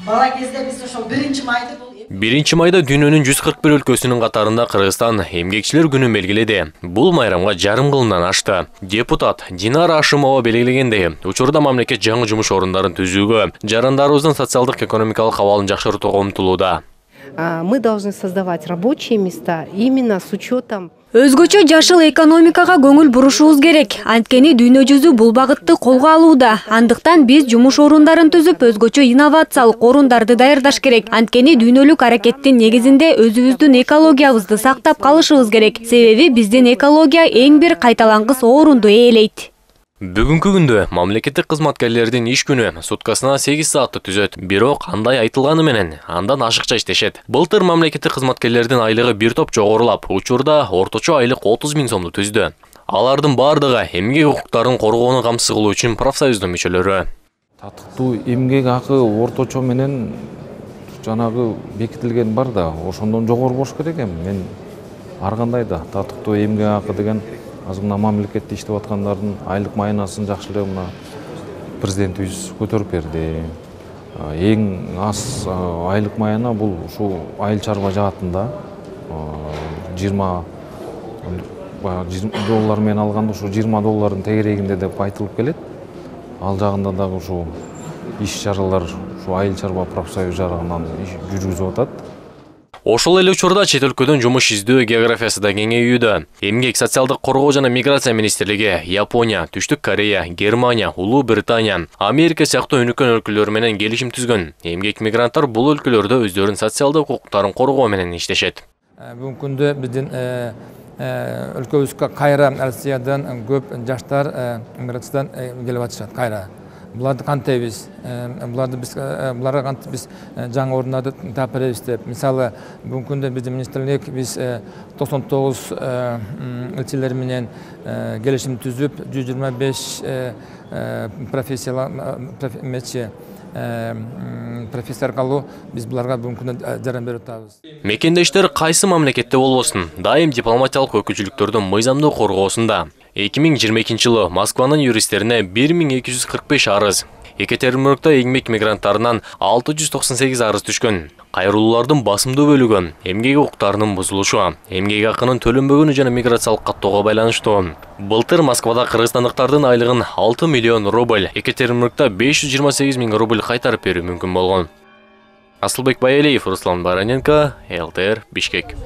Бала кезде биз ошол 1-майды бул 1-майда дүйнөнүн 141 өлкөсүнүн катарында Кыргызстан эмгекчилер күнүн белгиледи. Бул майрамга жарым кылымдан ашты. Депутат Динара Ашимова белгилегендей, учурда мамлекет жаңы жумуш орундарын түзүүгө, жарандарыбыздын социалдык-экономикалык абалын жакшыртууга умтулууда. Мы должны создавать рабочие места именно с учетом. Өзгөчө жашыл экономикага көңүл бурушубуз керек. Анткени дүйнө жүзү бул багытты колго алууда. Андыктан биз жумуш орундарын түзүп, өзгөчө инновациялык орундарды даярдаш керек. Анткени дүйнөлүк аракеттин негизинде өзүбүздүн экологиябызды сактап калышыбыз керек. Себеби биздин экология эң бир кайталангыс орунду ээлейт. Бүгүнкү күндө мамлекеттик кызматкерлердин иш күнү суткасына 8 саатты түзөт. Бирок андай айтылганы менен андан ашыкча иштешет. Былтыр мамлекеттик кызматкерлердин айлыгы бир топ жогорулап, учурда орточо айлык 30 000 сомду түздү. Алардын бардыгы эмгек укуктарын коргоону камсыз кылуу үчүн профсоюздун мүчөлөрү. Татыктуу эмгек акы орточо менен жанагы бекитилген бар да, ошондон жогору болуш керек эми. Мен ар кандай да татыктуу эмгек акы деген азыр мына мамлекетте иштеп аткандардын айлык майынасын жакшылап мына президентибиз көтөрүп берди. Эң аз айлык майына бул ушул айыл чарба жаатында 20 доллар менен алганда ушу 20 доллардын тегерегинде деп айтылып келет. Ал жагында дагы ушул иш чаралар ушу айыл чарба профсоюз жарыгынан жүргүзүп атат. Ошол эле учурда чет өлкөдөн жумуш издөө географиясы да кеңейүүдө. Эмгек, социалдык коргоо жана миграция министрлиги Япония, Түштүк Корея, Германия, Улуу Британия, Америка сыяктуу өнүккөн өлкөлөр менен келишим түзгөн. Эмгек мигранттар бул өлкөлөрдө өздөрүнүн социалдык укуктарын коргоо менен иштешет. Бүгүнкү күндө биздин өлкөбүзгө кайра Россиядан көп жаштар миграциядан келип атышат кайра. Буларды кантебиз? Буларга кантип биз жаңы орундарды таап беребиз деп. Мисалы, бүгүнкү күндө биздин министрлик биз 99 элчилер менен келишим түзүп, 125 профессор калуу биз буларга бүгүнкү күндө жардам берип атабыз. Мекендештер кайсы мамлекетте болбосун, дайым дипломатиялык өкүлчүлүктөрдүн мыйзамдуу коргоосунда. 2022 жылы Москванын юристтерине 1245 арыз, Екатеринбургда эмгек мигранттарынан 698 арыз түшкөн. Кайрылуулардын басымдуу бөлүгү эмгек укуктарынын бузулушу, эмгек акынын төлөнбөгөнү жана миграциялык каттоого байланыштуу. Былтыр Москвада кыргызстандыктардын айлыгын 6 миллион рубль, Екатеринбургда 528 000 рубль кайтарып берүү мүмкүн болгон. Асылбек Байалиев, Руслан Бараненко, ЛТР, Бишкек.